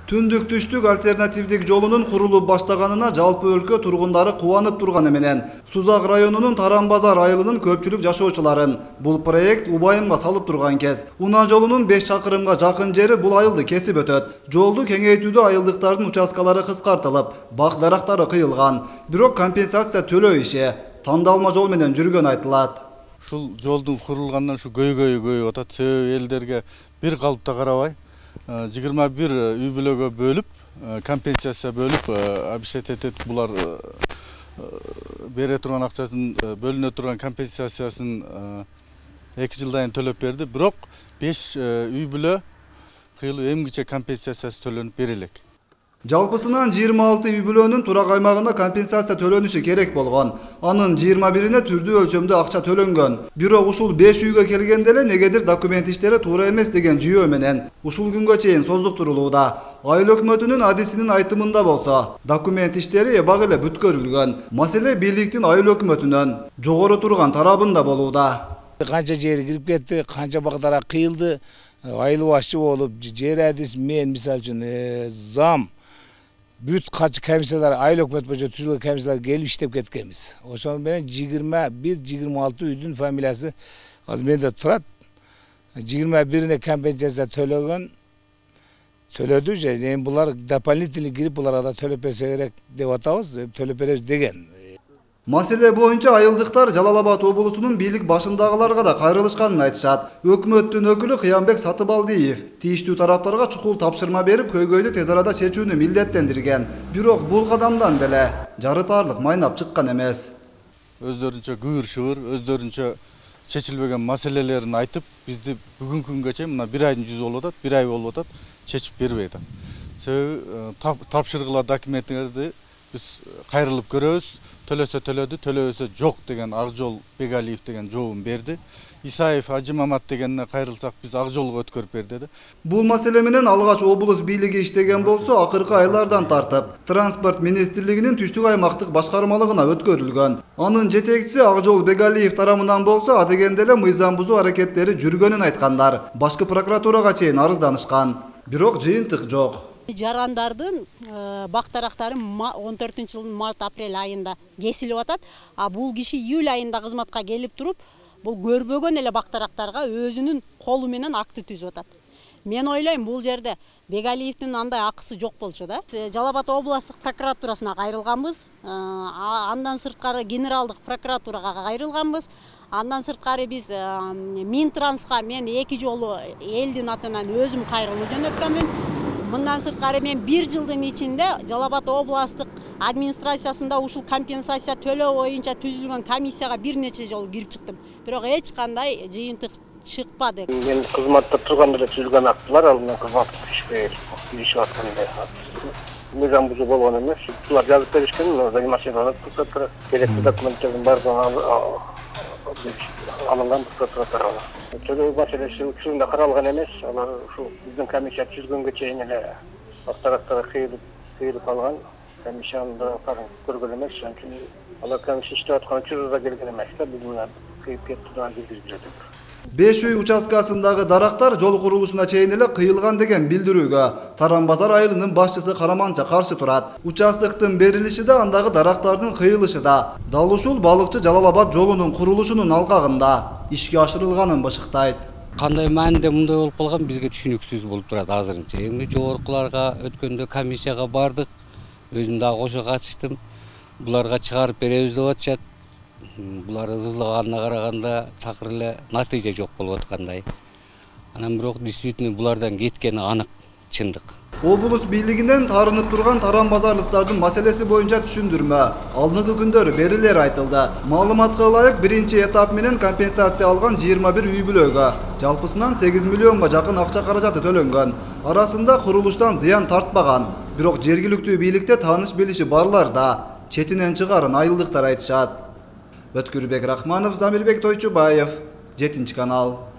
Түндүк түштүк альтернативдик жолунун курулуп баштаганына жалпы өлкө тургундары кубанып турганы менен Сузак районунун Таран-Базар айылынын көпчүлүк жашоочуларын бул проект убайымга салып турган кез. Унаа жолунун 5 чакырымга жакын жери бул айылды кесип өтөт. Жолду кеңейтүүдө айылдыктардын участкалары кыскартылып, бак дарактары кыйылган. Бирок компенсация төлөө иши тандалма жол менен жүргөн айтылат. Ушул жолдун курулгандан ушу көйгөйүп атат. Себеби элдерге бир калыпта карабай 21 үй бүлөгө бөлүп, компенсация бөлүп, обещать этет булар бере турган акчасын, бөлүнө турган компенсациясын 2 жылдан төлөп берди. Бирок 5 үй бүлө кыйылып эмгиче компенсациясы төлөнүп берилек. Жалпысынан 26 үй бүлөнүн турак аймагында компенсация төлөнүшү керек болгон. Анын 21-ине түрдүү өлчөмдө акча төлөнгөн. Бирок ушул 5 үйгө келгенде эле негедир документ иштери туура эмес деген жүйөө менен ушул күнгө чейин создуктурулууда. Айыл өкмөтүнүн адисинин айтымында болсо, документ иштери эбак эле бүткөрүлгөн. Маселе бийликтин айыл өкмөтүнөн жогору турган тарабында болууда. Канча жери кирип кетти, канча багдара кыйылды, айыл башчы болуп, жер адис мен мисалы үчүн зам бүт качы комиссиялар айыл өкмөт боюнча түзүлгөн комиссиялар келип иштеп кеткенбиз. Ошол менен 21-26 үйдүн фамилиясы азыр менде турат. 21-ине компенсация төлөдү же эми булар дополнительный кирип буларга да төлөп берсе керек деп атабыз, төлөп беребиз деген. Маселе боюнча айылдыктар Жалал Абад облусунун бийлик башындагыларга да кайрылышканын айтышат. Өкмөттүн өкүлү Кыямбек Сатыбалдиев тийиштүү тараптарга чукул тапшырма берип, көйгөйдү тез арада чечүүнү милдеттендирген. Бирок бул кадамдан деле жарытарлык майнап чыккан эмес. Өздөрүнчө кыбыр-шыбыр, өздөрүнчө чечилбеген маселелерин айтып, бизди бүгүнкү күнгө чейин мына 1 айдын жүзү болуп атат, 1 ай болуп атат, чечип бербей атат. Себеби тапшыргыла документтерди биз кайрылып көрөбүз. Төлөсө төлөдү, төлөбөсө жок деген Акжол Бегалиев деген жообун берди. Исаев Ажы Мамат дегенине кайрылсак биз ак жолго өткөрүп бер деди. Бул маселе менен алгач облус бийлиги иштеген болсо, акыркы айлардан тартып Транспорт министрлигинин түштүк аймактык башкармалыгына өткөрүлгөн. Анын жетекчиси Акжол Бегалиев тарабынан болсо, адегенде эле мыйзам бузуу аракеттери жүргөнүн айткандар. Башкы прокуратурага чейин арызданышкан. Бирок жыйынтык жок. Жарандардын бак дарактары 14-жылдын март-апрель айында кесилип атат. А бул киши июль айында кызматка келип туруп, бул көрбөгөн эле бак дарактарга өзүнүн колу менен акты түзүп атат. Мен ойлойм, бул жерде Бегалиевдин андай акысы жок болчу да. Жалал Абад областык прокуратурасына кайрылганбыз. Андан сырткары генералдык прокуратурага кайрылганбыз. Андан сырткары биз Минтранска мен 2 жолу элдин атынан өзүм кайрылуу жөнөткөмүн. Мындан сырткары мен 1 жылдын ичинде Жалал Абад областык администрациясында ушул компенсация төлөө боюнча түзүлгөн комиссияга бир нече жолу кирип чыктым. Бирок эч кандай жыйынтык чыкпады. Мен кызматта турганда эле түзүлгөн актылар, ал менен кызматка киришип атканда мыйзам бузуу болгон эмес. Булар жазып беришкен, занимательный прокуратура керектүү документтердин баардыгын алынган прокуратура. Төлөө маселеси учурунда каралган эмес. Алар ушул биздин комиссия түзгөнгө чейин эле бактарактары кыйылып алган. Комиссияны да көргөн эмес. Анткени алар комиссия иштеп аткан учурда келген эмес да, биз мына кыйып кетти деп. 5 үй участкасындагы дарактар жол курулушуна чейин эле кыйылган деген билдирүүгө Таран-Базар айылынын башчысы Караманча каршы турат. Участыктын берилиши да, андагы дарактардын кыйылышы да дал ушул балыкчы Жалал Абад жолунун курулушунун алкагында ишке ашырылганын бышыктайт. Кандай мааниде мындай болуп калган бизге түшүнүксүз болуп турат азырынча. Эми жогоркуларга өткөндө комиссияга бардык, өзүм дагы кошо катыштым. Буларга чыгарып беребиз деп атышат. Булар ызылганына караганда такыр эле натыйжа жок болуп аткандай. Анан бирок действительно булардан кеткени анык, чындык. Облус бийлигинен тарынып турган Таран-Базарлыктардын маселеси боюнча түшүндүрмө алдыңкы күндөрү берилери айтылды. Маалыматка ылайык, биринчи этап менен компенсация алган 21 үй бүлөгө жалпысынан 8 миллионго жакын акча каражаты төлөнгөн. Арасында курулуштан зыян тартпаган, бирок жергиликтүү бийликте тааныш билиши барлар да четинен чыгарын айылдыктар айтышат. Өткүрбек Рахманов, Замирбек Тойчубаев, 7 канал.